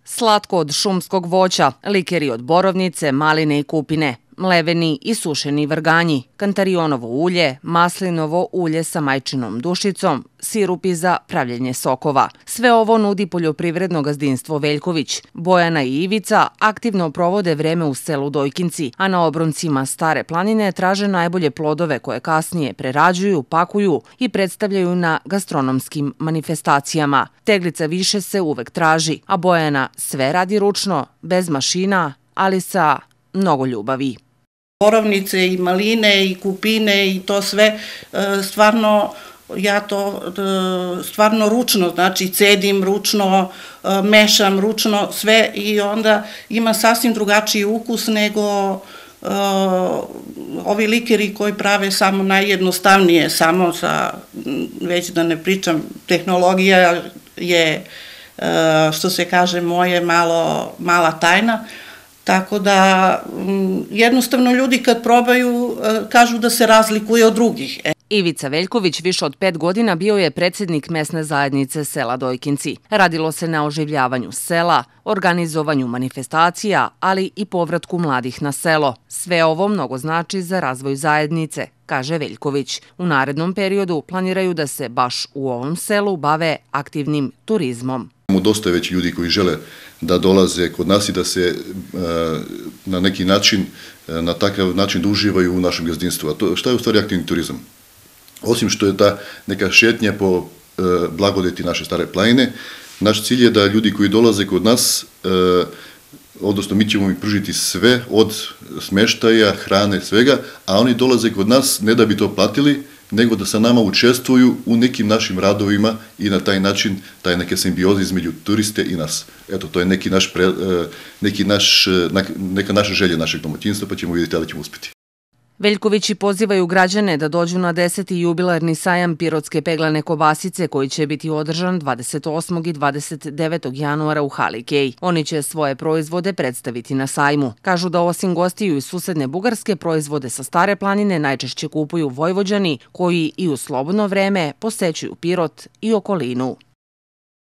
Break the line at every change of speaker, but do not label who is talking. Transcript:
Slatko od šumskog voća, likeri od borovnice, maline i kupine, mleveni i sušeni vrganji, kantarionovo ulje, maslinovo ulje sa majčinom dušicom, sirupi za pravljenje sokova. Sve ovo nudi poljoprivredno gazdinstvo Veljković. Bojana i Ivica aktivno provode vreme u selu Dojkinci, a na obroncima Stare planine traže najbolje plodove koje kasnije prerađuju, pakuju i predstavljaju na gastronomskim manifestacijama. Teglica više se uvek traži, a Bojana sve radi ručno, bez mašina, ali sa mnogo ljubavi.
Borovnice i maline i kupine i to sve, stvarno, ja to stvarno ručno, znači cedim ručno, mešam ručno sve i onda ima sasvim drugačiji ukus nego ovi likeri koji prave samo najjednostavnije, samo sa, već da ne pričam, tehnologija je, što se kaže, moje mala tajna. Tako da jednostavno ljudi kad probaju kažu da se razlikuje od drugih.
Ivica Veljković više od 5 godina bio je predsjednik mesne zajednice sela Dojkinci. Radilo se na oživljavanju sela, organizovanju manifestacija, ali i povratku mladih na selo. Sve ovo mnogo znači za razvoj zajednice, kaže Veljković. U narednom periodu planiraju da se baš u ovom selu bave aktivnim turizmom.
Dosta je već ljudi koji žele da dolaze kod nas i da se na neki način, na takav način da uživaju u našem gazdinstvu. A šta je u stvari aktivni turizam? Osim što je ta neka šetnja po blagodeti naše Stare planine, naš cilj je da ljudi koji dolaze kod nas, odnosno mi ćemo im pružiti sve od smeštaja, hrane, svega, a oni dolaze kod nas ne da bi to platili, nego da sa nama učestvuju u nekim našim radovima i na taj način, taj neke simbioze između turiste i nas. Eto, to je neka naša želja našeg domaćinstva, pa ćemo vidjeti da li ćemo uspjeti.
Veljkovići pozivaju građane da dođu na 10. jubilarni sajam pirotske peglane kobasice koji će biti održan 28. i 29. januara u hali Kej. Oni će svoje proizvode predstaviti na sajmu. Kažu da osim gostiju iz susedne Bugarske, proizvode sa Stare planine najčešće kupuju Vojvođani koji i u slobodno vreme posećuju Pirot i okolinu.